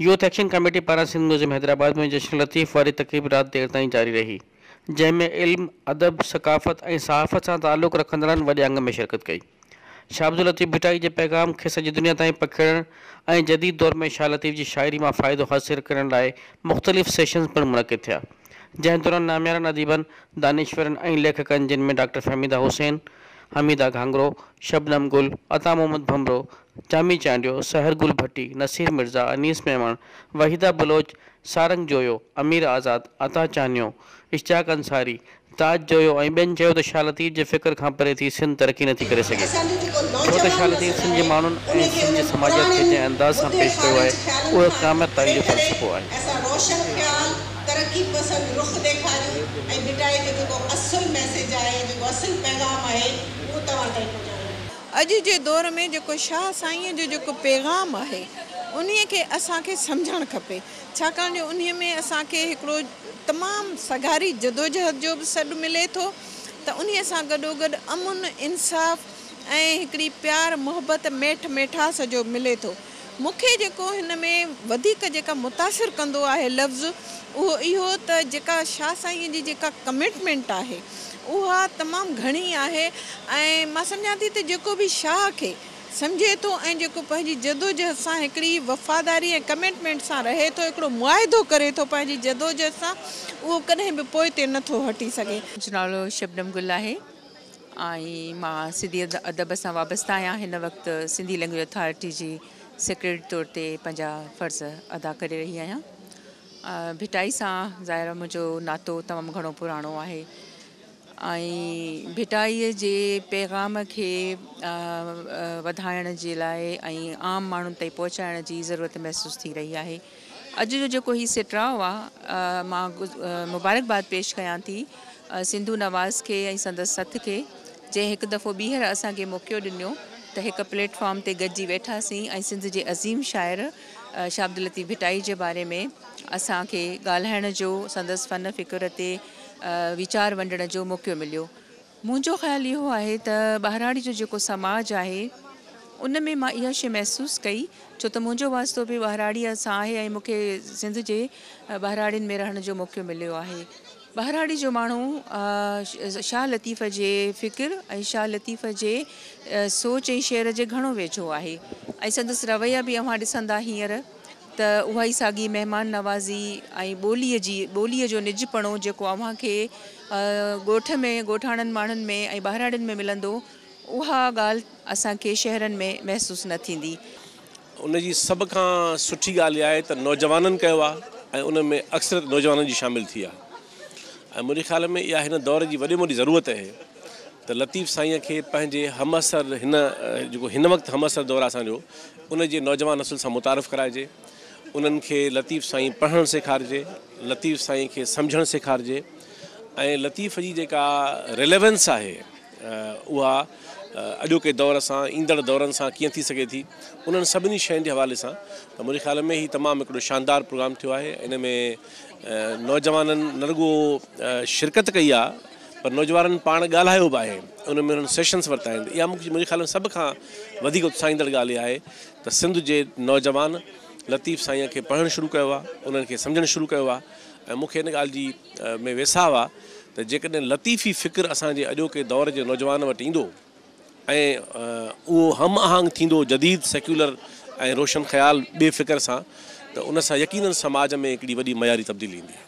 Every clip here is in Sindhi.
يوٿ ايڪشن ڪميٽي پاران سنڌ ميوزيم حيدرآباد ۾ جشن لطيف واري تقريب رات دير تائين جاري رهي، جنهن ۾ علم، ادب، ثقافت ۽ صحافت سان تعلق رکندڙن وڏي انگ ۾ شرڪت ڪئي. شاهه عبداللطيف ڀٽائي جي پيغام کي سڄي دنيا تائين پکيڙڻ ۽ جديد دور ۾ شاهه لطيف جي شاعري مان فائدو حاصل ڪرڻ لاء مختلف سيشنز پڻ منعقد ٿيا، جنهن دوران ناميارن اديبن، دانشورن ۽ ليکڪن جن ۾ ڊاڪٽر فهميده حسين، حميده گهانگهرو، شبنم گل، عطا محمد ڀنڀرو، جامي چانڊيو، سحر گل ڀٽي، نصير مرزا، انيس ميمڻ، وحيده بلوچ، سارنگ جويو، امير آزاد، عطا چانيو، اشتياق انصاري، تاج جويو ۽ ٻين چيو ته شاهه لطيف جي فڪر کان پري ٿي سنڌ ترقي نٿي ڪري سگهي ڇو ته شاهه لطيف سنڌ جي ماڻهن ۽ سنڌ جي سماجيات کي جنهن انداز سان پيش ڪيو آهي اهو قيامت تائين جو فلسفو آهي. اسان روشن خيال، ترقي پسند رخ ڏيکاريون ۽ ڀٽائي جو جيڪو اصل ميسيج آهي، جيڪو اصل پيغام آهي، اهو توهان تائين پهچايون. اڄ جي دور ۾ جيڪو شاهه سائينء جو جيڪو پيغام آهي، انهيء کي اسان کي سمجهڻ کپي، ڇاڪاڻ جو انهيء ۾ اسان کي هڪڙو تمام سگهاري جدوجهد جو به سڏ ملي ٿو ته انهيء سان گڏوگڏ امن، انصاف ۽ هڪڙي پيار، محبت، ميٺ ميٺاس جو ملي ٿو. مون کي جيڪو هن ۾ وڌيڪ جيڪا متاثر ڪندو آهي لفظ اهو اهو ته جيڪا شاهه سائينء جي جيڪا ڪمٽمينٽ آهي اها تمام گهڻي آهي ۽ مان سمجهان ٿي ته جيڪو به شاهه کي سمجهي ٿو ۽ جيڪو پنهنجي جدوجهد سان هڪڙي وفاداري ۽ ڪمٽمينٽ سان رهي ٿو هڪڙو معاهدو ڪري ٿو پنهنجي جدوجهد سان اهو ڪڏهن به پوئتي نه ٿو هٽي سگهي. منهنجو نالو شبنم گل آهي. ۽ مان سنڌي ادب سان وابسته آهيان هن وقت سنڌي لينگويج اٿارٽي جي سيڪريٽري طور تي پنهنجا فرض ادا ڪري رهي آهيان ڀٽائي سان ظاهر آهي منهنجو ناتو تمام گهڻو پراڻو آهي ۽ ڀٽائي جي پيغام کي وڌائڻ جي لاء ۽ عام ماڻهن تائين پهچائڻ جي ضرورت محسوس ٿي رهي آهي اڄ جو جيڪو هي سٽراء آ مان مبارڪباد پيش ڪيان ٿي سنڌو نواز کي ۽ سندس سٿ کي جنهن هڪ دفعو ٻيهر اسان کي موقعو ڏنو ته هڪ پليٽ فارم تي گڏجي ويٺاسين ۽ سنڌ جي عظيم شاعر شاهه عبداللطيف ڀٽائي جي باري ۾ اسان کي ڳالهائڻ جو سندس فن فڪر تي ويچار ونڊڻ جو موقعو مليو. منهنجو خيال اهو آهي ته ٻهراڙي جو جيڪو سماج آهي ان ۾ مان اها شيء محسوس ڪئي ڇو ته منهنجو واسطو به ٻهراڙيء سان آهي ۽ مون کي سنڌ جي ٻهراڙين ۾ رهڻ جو موقعو مليو آهي. ٻهراڙي جو ماڻهو شاهه لطيف جي فڪر ۽ شاهه لطيف جي سوچ ۽ شعر جي گهڻو ويجهو آهي ۽ سندس رويا به اوهان ڏسندا هينئر ته اها ئي ساڳي مهمان نوازي ۽ ٻوليء جي ٻوليء جو نجپڻو جيڪو اوهان کي ڳوٺ ۾ ڳوٺاڻن ماڻهن ۾ ۽ ٻهراڙين ۾ ملندو اها ڳالهه اسان کي شهرن ۾ محسوس نه ٿيندي. ان جي سڀ کان سٺي ڳالهه اها آهي ته نوجوانن ڪيو آهي ۽ ان ۾ اڪثريت نوجوانن جي شامل ٿي آهي ۽ منهنجي خيال ۾ اها هن دور جي وڏي ۾ وڏي ضرورت آهي ته لطيف سائينء کي پنهنجي همعصر هن جيڪو هن وقت همعصر دور آهي اسان جو ان جي نوجوان نسل سان متعارف ڪرائجي، انهن کي لطيف سائين پڙهڻ سيکارجي، لطيف سائين کي سمجهڻ سيکارجي ۽ لطيف جي جيڪا ريليونس آهي اها اڄوڪي دور سان ايندڙ دورن سان ڪيئن ٿي سگهي ٿي انهن سڀني شين جي حوالي سان ته منهنجي خيال ۾ هي تمام هڪڙو شاندار پروگرام ٿيو آهي ان ۾ نوجوانن نه رڳو شرڪت ڪئي آهي پر نوجوانن پاڻ ڳالهايو به آهي ان ۾ انهن سيشنس ورتا آهن اها مون کي منهنجي خيال ۾ سڀ کان وڌيڪ اتساهيندڙ ڳالهه اها آهي ته سنڌ جي نوجوان لطيف سائينء کي پڙهڻ شروع ڪيو آهي انهن کي سمجهڻ شروع ڪيو آهي ۽ مون کي ان ڳالهه جي ۾ ويساهه آهي ته جيڪڏهن لطيفي فڪر اسان جي اڄوڪي دور جي نوجوان وٽ ايندو ۽ اهو هم آهنگ ٿيندو جديد سيڪيولر ۽ روشن خيال ٻئي فڪر سان ته ان سان يقينن سماج ۾ هڪڙي وڏي معياري تبديلي ايندي.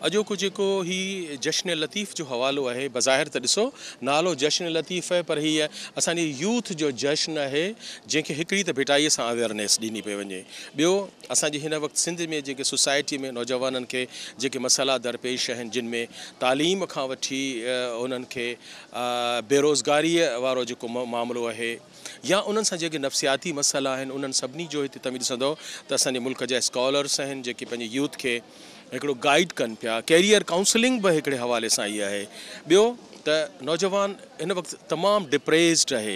اڄوڪو جيڪو هي جشن لطيف جو حوالو آهي بظاهر ته ڏسو نالو جشن لطيف آهي پر هي اسان جي يوٿ جو جشن آهي جنهن کي هڪڙي ته ڀٽائي سان اويئرنيس ڏني پئي وڃي ٻيو اسان جي هن وقت سنڌ ۾ جيڪي سوسائٽي ۾ نوجوانن کي جيڪي مسئلا درپيش آهن جن ۾ تعليم کان وٺي انهن کي بيروزگاريء وارو جيڪو معاملو آهي يا انهن سان جيڪي نفسياتي مسئلا آهن انهن سڀني جو هتي توهين ڏسندؤ ته اسان جي ملڪ جا اسڪالرس آهن جيڪي پنهنجي يوٿ کي هڪڙو گائيڊ ڪن پيا ڪيريئر ڪائونسلنگ به هڪڙي حوالي سان ئي آهي ٻيو ته نوجوان هن وقت تمام ڊپريسڊ آهي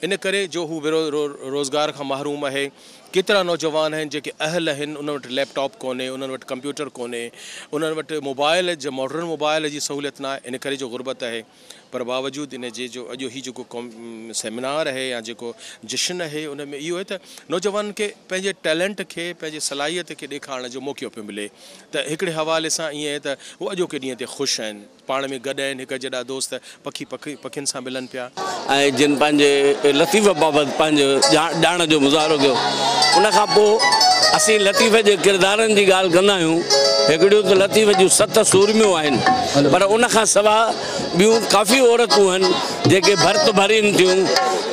ان ڪري جو هو روزگار کان محروم آهي ڪيترا نوجوان آهن جيڪي اهل آهن انهن وٽ ليپ ٽاپ ڪونهي انهن وٽ ڪمپيوٽر ڪونهي انهن وٽ موبائل جي ماڊرن موبائل جي سهوليت ناهي ان ڪري جو غربت آهي پر باوجود ان جي جو اڄ هي جيڪو سيمينار آهي يا جيڪو جشن آهي ان ۾ اهو آهي ته نوجوانن کي پنهنجي ٽيلنٽ کي پنهنجي صلاحيت کي ڏيکارڻ جو موقعو پيو ملي ته هڪڙي حوالي سان ائين آهي ته هو اڄوڪي ڏينهن تي خوش آهن. پاڻ ۾ گڏ آهن، هڪ جيڏا دوست پکي پکين سان ملن پيا. ۽ جن پنهنجي لطيف بابت پنهنجو ڄاڻ جو مظاهرو ڪيو. ان کان پوء اسين لطيف جي ڪردارن جي ڳالهه ڪندا آهيون. هڪڙيون ته لطيف جون 7 سورميون آهن، پر ان کان سواء ٻيون ڪافي عورتون آهن جيڪي ڀرت ڀرين ٿيون،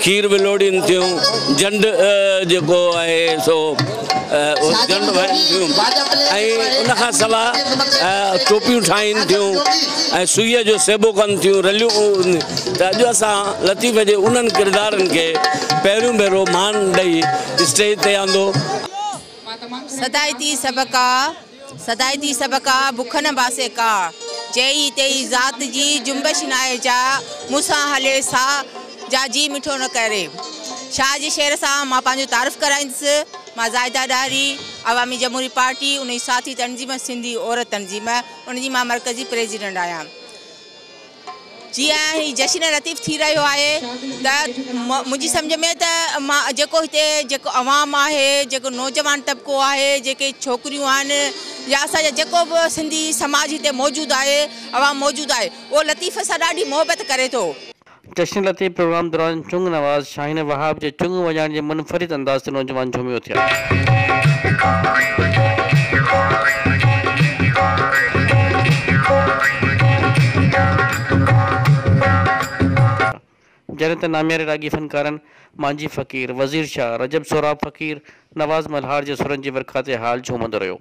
کير ولوڙين ٿيون، جنڊ جيڪو آهي سو جنڊ ڀرين ٿيون ۽ ان کان سواء ٽوپيون ٺاهين ٿيون ۽ سوئيء جو سيبو ڪن ٿيون، رليون. ته اڄ اسان لطيف جي انهن ڪردارن کي پهريون ڀيرو مان ڏئي اسٽيج تي آندو. صدائتي سبقا، صدائتي سبقا، بک نه باسي ڪا، جيئي تيئي ذات جي جنبش ناهي جا، مون سان هلي سا، جا جي مٺو نه ڪري. شاهه جي شعر سان مان پنهنجو تعارف ڪرائيندس. مان زاهده ڏاهري، عوامي جمهوري پارٽي، ان جي ساٿي تنظيم سنڌي عورت تنظيم، ان جي مان مرڪزي پريزيڊنٽ آهيان. جيئن هي جشن لطيف ٿي رهيو آهي ته منهنجي سمجهه ۾ ته مان جيڪو هتي جيڪو عوام آهي، جيڪو نوجوان طبقو آهي، جيڪي ڇوڪريون آهن يا اسان جا جيڪو به سنڌي سماج هتي موجود آهي، عوام موجود آهي، اهو لطيف سان ڏاڍي محبت ڪري ٿو. جشن لطيف پروگرام دوران چنگ نواز شاهين وهاب جي چنگ وڄائڻ جي منفرد انداز تي نوجوان جهومي اٿيا. جڏهن ته نامياري راڳي فنڪارن مانجهي فقير، وزير شاهه، رجب سهراب فقير، نواز ملهار جي سرن جي ورکا تي هال جهومندو رهيو.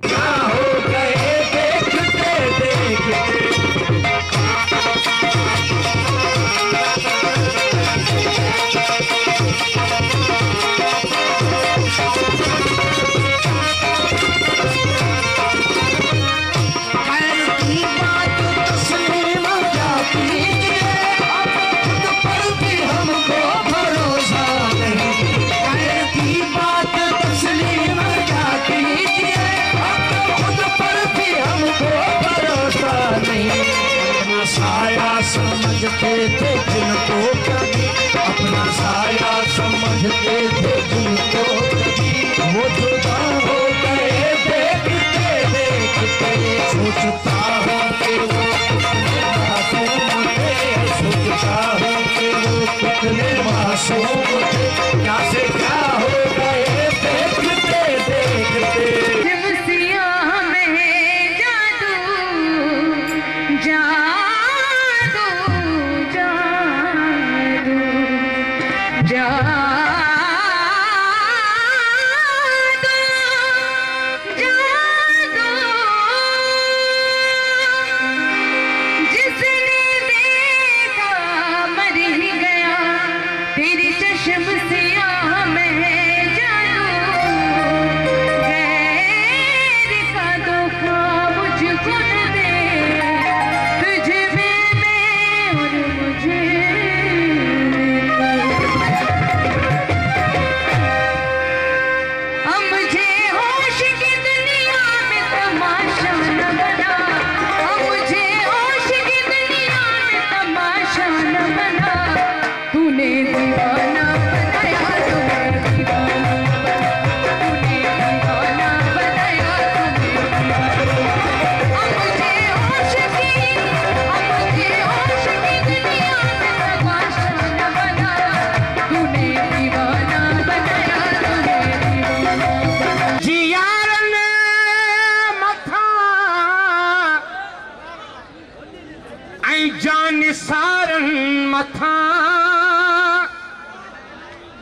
समझते थे जिनको कभी, अपना साया समझते थे जिनको कभी, वो जुदा हो गए देखते देखते। सोचता हूँ कि वो कितने मासूम थे, सोचता हूँ कि वो कितने मासूम थे, क्या से क्या हो गए देखते देखते।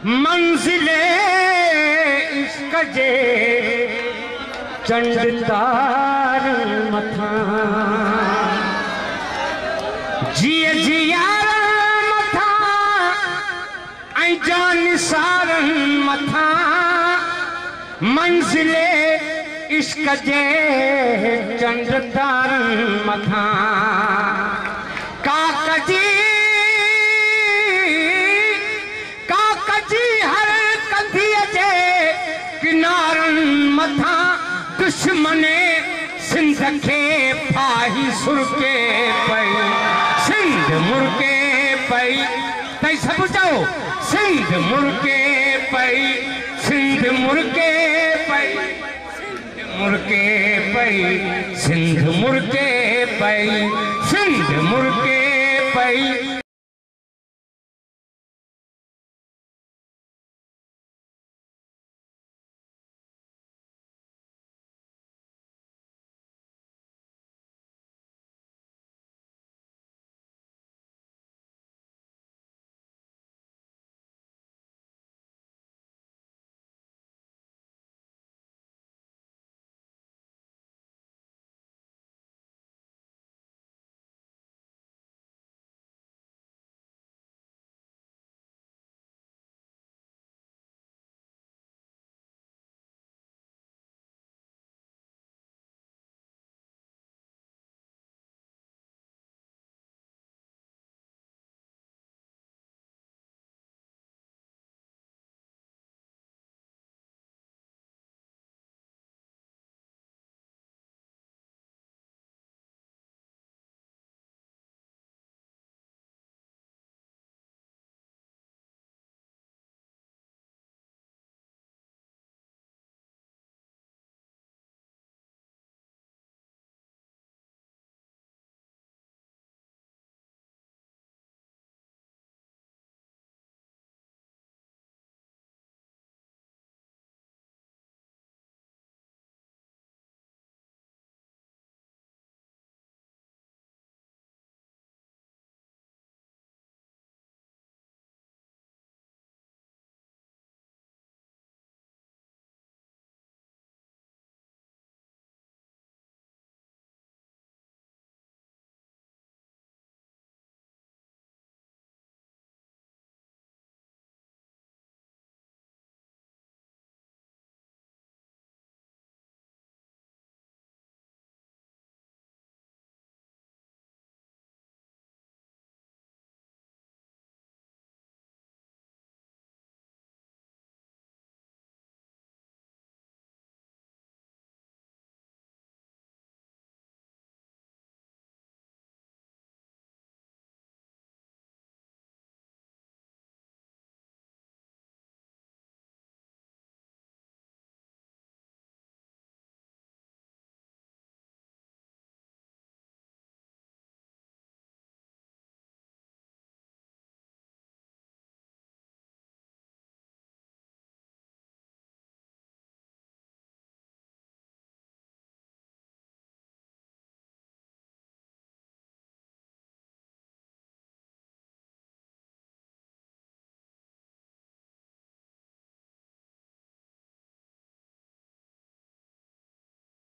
मंजिले इश्क जे चंड तारन मथा, जिय जियारन मथा ऐं जान सारन मथा, मंजिले इश्क जे चंड तारन मथा। काकजी काकजी हर कंधीअ जे किनारन मथा, दुश्मने सिंध खे फाही सुरके पई, सिंध मुड़के پئي. تئين سڀ چئو، سنڌ مرڪي پئي، سنڌ مرڪي پئي، سنڌ مرڪي پئي، سنڌ مرڪي پئي، سنڌ مرڪي پئي.